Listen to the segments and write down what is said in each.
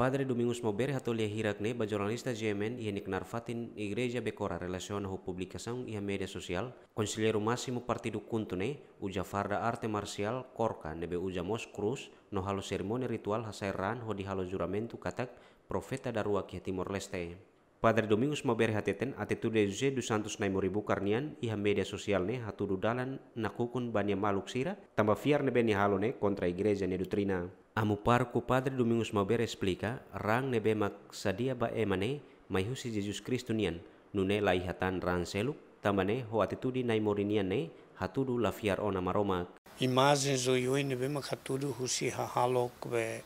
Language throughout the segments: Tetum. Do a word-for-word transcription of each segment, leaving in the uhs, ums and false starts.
Padre Domingos Maubere hato'o lia hirak ne'e ba jornalista G M N iha nia knaar fatin Igreja Bekora relasiona ho publikasaun iha média sosiál, Konselleiru Másimu Partidu KHUNTO ne'e uza farda arte marsiál korka ne'ebé uza mós krús no halo serimónia rituál hasai raan hodi halo juramentu katak profeta daruak iha Timor-Leste. Padre Domingos Maubere hateten atitude José dos Santos Naimori Bucar nian iha média sosiál ne'e hatudu dalan nakukun ba nia maluk sira, tanba fiar ne'ebé nia halo ne'e kontra igreja nia doutrina. Amu pároku Padre Domingos Maubere esplika, raan ne'ebé mak sadia ba ema ne'e mai husi Jesus Kristu nian, nune'e la iha tan raan seluk, tanba ne'e ho atitude Naimori nian ne'e hatudu la fiar ona Maromak. Imajen oioin ne'ebé mak hatudu husi hahalok be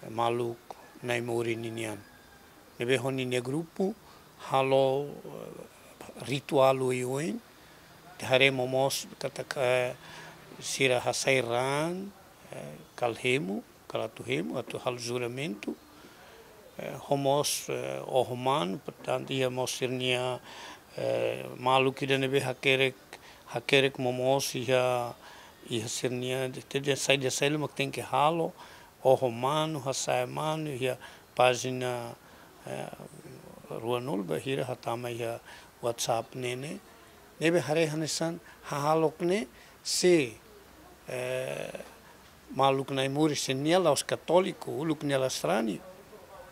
maluk Naimori ninian. Ne'ebé ho ninia grupu halo, eh, rituál oioin, te haree momoos katak, eh, sira hasai raan, eh, kal hemu, kal atu hemu, atu halo juramentu, eh, ho mós, eh, oho manu, portantu, iha mós sira-nia, eh, maluk ida ne'ebé hakerek, hakerek momoos iha, iha sira-nia, te, te, sai, te sai, mak tenke halo, oho manu, hasa'e manu, iha pájina, eh, ruanulu bainhira hatama iha WhatsApp ne'e ne'e. Ne'ebé haree hanesan hahalok ne'e se, eh, maluk Naimori se nia la'ós katóliku, uluk nia la sarani,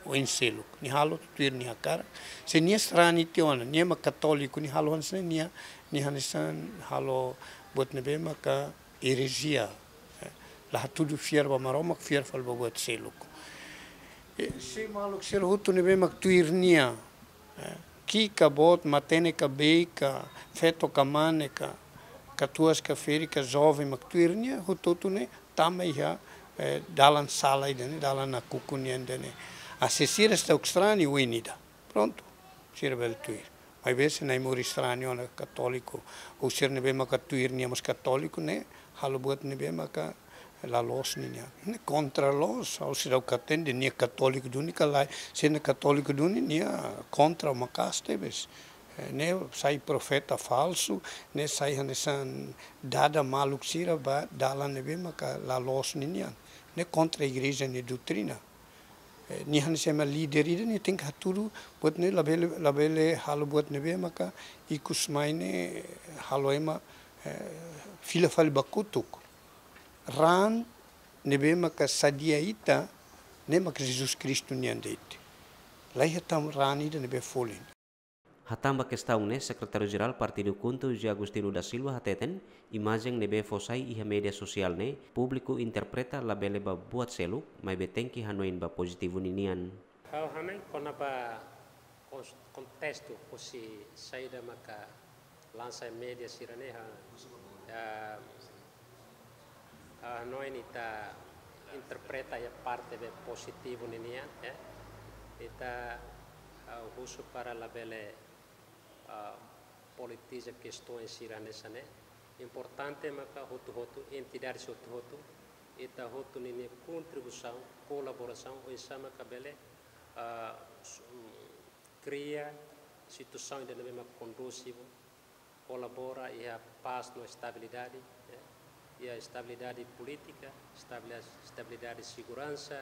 oin seluk. Nia halo tuir nia hakarak. Se nia sarani tiha ona, nia mak katóliku, nia halo hanesan nia, nia hanesan halo buat ne'ebé maka erezia. Eh, la hatudu fiar ba Maromak, fiar fali ba buat seluk. Eh, se maluk sira hotu ne'ebé mak tuir nia, eh, ki'ik ka boot, matenek ka beik ka, feto ka mane ka, katuas ka ferik ka, joven mak tuir nia, hotu-hotu ne'e tama iha, eh, dalan sala ida ne'e, dalan nakukun nian ida ne'e. Ah, se sira seidauk sarani, oin ida. Prontu, sira bele tuir. Maibé se Naimori sarani ona katóliku, ou sira ne'ebé maka tuir nia mós katóliku ne'e, halo buat ne'ebé maka la loos ninian. Ne'e kontra loos, ha'u seidauk hatene nia katóliku duni ka lae, se nia katóliku duni nia kontra maka'as tebes. Eh, ne'e sai profeta falsu, ne'e sai hanesan dada maluk sira ba dalan ne'ebé maka la loos ninian. Ne'e kontra igreja nia doutrina. Eh, nia hanesan ema líder ida nia tenke hatudu buat ne'e labele, labele halo buat ne'ebé maka ikus mai ne'e halo ema, eh, fila fali ba kotuk. Raan ne'ebé maka sadia ita, ne'e maka Jesus Kristu nian de'it. La iha tan raan ida ne'ebé folin. Hatán ba kestaun ne'e, Sekretáriu Jerál Partidu KHUNTO, José Agostinho da Silva, hateten, imajen ne'ebé fó sai iha média sosiál ne'e, públiku interpreta labele ba buat seluk, maibé tenke hanoin ba pozitivu ninian. Ha'u hanoin kona-ba kons-, kontestu husi saida maka lansa média sira-ne'e, ha, ya, ah, hanoin ita interpreta iha parte be pozitivu ninian, ya. Ita, ah, husu para labele, ah, politiza kestaun sira hanesan ne'e. Importante maka hotu-hotu, entidades hotu-hotu, ita hotu ninia kontribuisaun, kolaborasaun, oinsá maka bele, ah, s-, mm, kria situasaun ida ne'ebé mak kondusivu, kolabora iha pás no estabilidade, eh, iha estabilidade polítika, estabili-, estabilidade seguransa,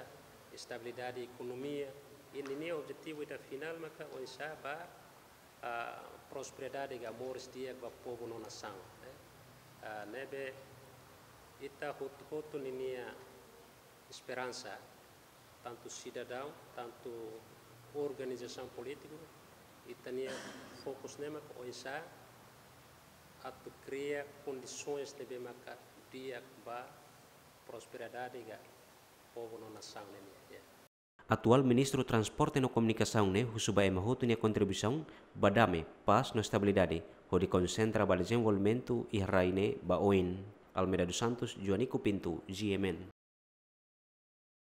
estabilidade ekonomia. I ninia objetivu ida finál maka oinsá ba, ah, prosperidade ka moris di'ak ba povu no nasaun, eh. Ah, ne'ebé ita hotu-hotu ninia esperansa, tantu sidadaun, tantu organizasaun polítiku, ita-nia fokus ne'e maka oinsá atu kria kondisoens ne'ebé maka di'ak ba prosperidade ka povu no nasaun ne'e nian, ya. Atuál Ministru Transporte no Komunikasaun ne'e husu ba ema hotu nia kontribuisaun ba dame, pás no estabilidade, hodi konsentra ba dezenvolvimentu iha rai ne'e ba oin. Almeida dos Santos, Joanico Pinto, G M N.